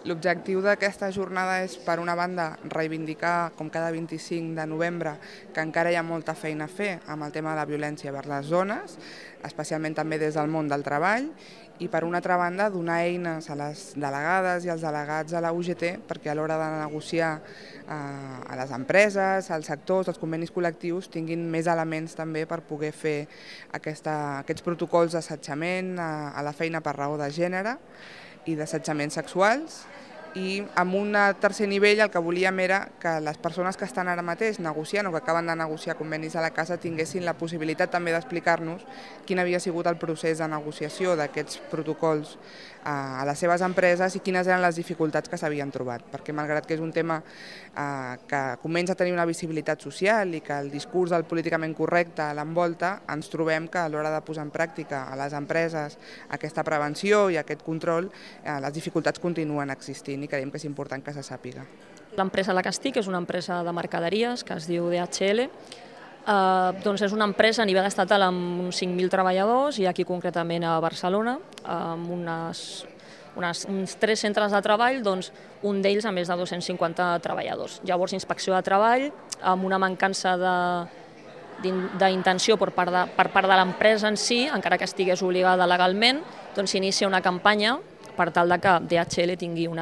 L'objectiu d'aquesta jornada és, per una banda, reivindicar, com cada 25 de novembre, que encara hi ha molta feina a fer amb el tema de la violència vers les dones, especialment també des del món del treball, i per una altra banda donar eines a les delegades i als delegats a la UGT perquè a l'hora de negociar a les empreses, als sectors, als convenis col·lectius tinguin més elements també per poder fer aquests protocols d'assetjament a la feina per raó de gènere i d'assetjaments sexuals. I amb un tercer nivell el que volíem era que les persones que estan ara mateix negociant o que acaben de negociar convenis a la casa tinguessin la possibilitat també d'explicar-nos quin havia sigut el procés de negociació d'aquests protocols a les seves empreses i quines eren les dificultats que s'havien trobat, perquè malgrat que és un tema que comença a tenir una visibilitat social i que el discurs del políticament correcte l'envolta, ens trobem que a l'hora de posar en pràctica a les empreses aquesta prevenció i aquest control, les dificultats continuen existint i creiem que és important que se sàpiga. L'empresa a la que estic és una empresa de mercaderies que es diu DHL. Doncs és una empresa a nivell estatal amb uns 5.000 treballadors i aquí concretament a Barcelona, amb uns 3 centres de treball, doncs un d'ells amb més de 250 treballadors. Llavors, inspecció de treball, amb una mancança d'intenció per part de l'empresa en si, encara que estigués obligada legalment, doncs s'inicia una campanya per tal que DHL tingui un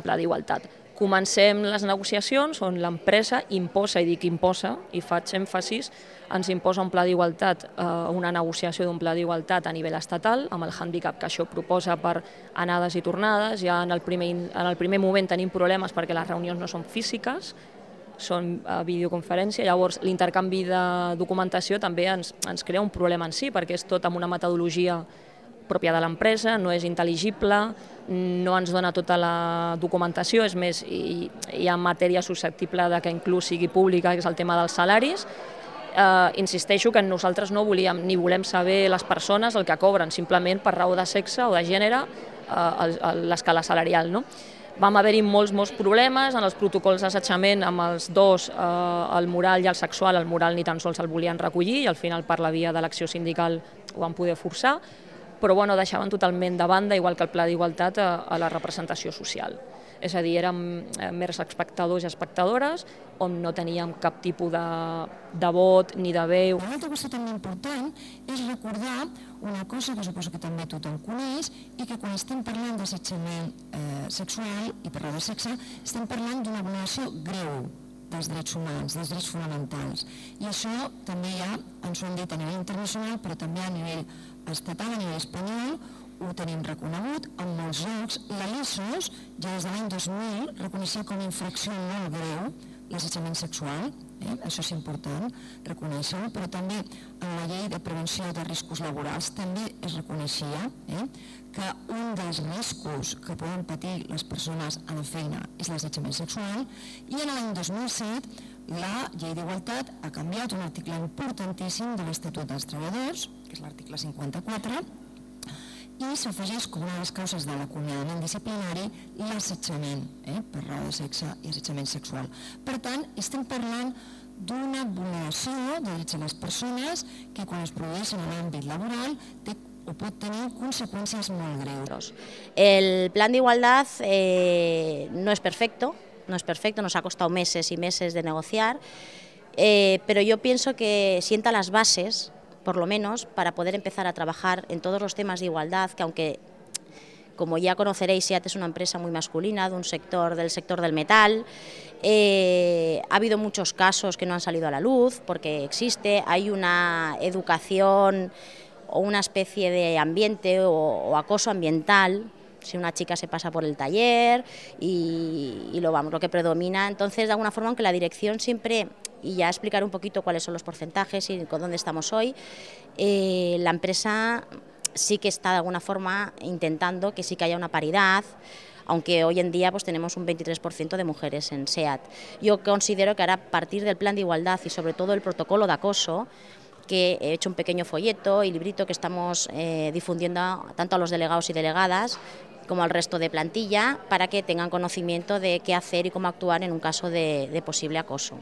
pla d'igualtat. Comencem les negociacions on l'empresa imposa, i dic imposa, i faig èmfasis, ens imposa un pla d'igualtat, una negociació d'un pla d'igualtat a nivell estatal, amb el hàndicap que això proposa per anades i tornades. Ja en el primer moment tenim problemes perquè les reunions no són físiques, són videoconferència, llavors l'intercanvi de documentació també ens crea un problema en si, perquè és tot amb una metodologia pròpia de l'empresa, no és intel·ligible, no ens dona tota la documentació, és més, hi ha matèria susceptible de que inclús sigui pública, que és el tema dels salaris. Insisteixo que nosaltres no volíem ni volem saber les persones el que cobren, simplement per raó de sexe o de gènere l'escala salarial. Vam haver-hi molts problemes en els protocols d'assetjament amb els dos, el moral i el sexual. El moral ni tan sols el volien recollir i al final per la via de l'acció sindical ho van poder forçar, però deixaven totalment de banda, igual que el pla d'igualtat, a la representació social. És a dir, érem mers espectadors i espectadores on no teníem cap tipus de vot ni de veu. Una altra cosa també important és recordar una cosa que suposo que també tothom coneix i que quan estem parlant d'assetjament sexual i per raó de sexe estem parlant d'una vulneració greu dels drets humans, dels drets fonamentals. I això també ja ens ho han dit a nivell internacional, però també a nivell estatal, a nivell espanyol, ho tenim reconegut en molts llocs. La LISOS, ja des de l'any 2000, reconeixia com a infracció molt greu l'assetjament sexual, això és important reconèixer-ho, però també en la llei de prevenció de riscos laborals també es reconeixia que un dels riscos que poden patir les persones a la feina és l'assetjament sexual, i en l'any 2007 la llei d'igualtat ha canviat un article importantíssim de l'Estatut dels Treballadors, que és l'article 54, i s'afegeix com una de les causes de l'acomiadament disciplinari l'assetjament per raó de sexe i assetjament sexual. Per tant, estem parlant d'una vulneració de drets de les persones que quan es produeix en l'àmbit laboral o pot tenir consecuencias muy greus. El plan de igualdad no es perfecto, nos ha costado meses y meses de negociar, pero yo pienso que sienta las bases, por lo menos, para poder empezar a trabajar en todos los temas de igualdad, que aunque, como ya conoceréis, SEAT es una empresa muy masculina, del sector del metal. Ha habido muchos casos que no han salido a la luz porque existe, hay una educación o una especie de ambiente o acoso ambiental, si una chica se pasa por el taller y lo que predomina. Entonces, de alguna forma, aunque la dirección siempre, y ya explicaré un poquito cuáles son los porcentajes y con dónde estamos hoy, la empresa sí que está de alguna forma intentando que sí que haya una paridad, aunque hoy en día pues tenemos un 23% de mujeres en SEAT. Yo considero que ahora, a partir del plan de igualdad y sobre todo el protocolo de acoso, que he hecho un pequeño folleto y librito que estamos difundiendo tanto a los delegados y delegadas como al resto de plantilla para que tengan conocimiento de qué hacer y cómo actuar en un caso de posible acoso.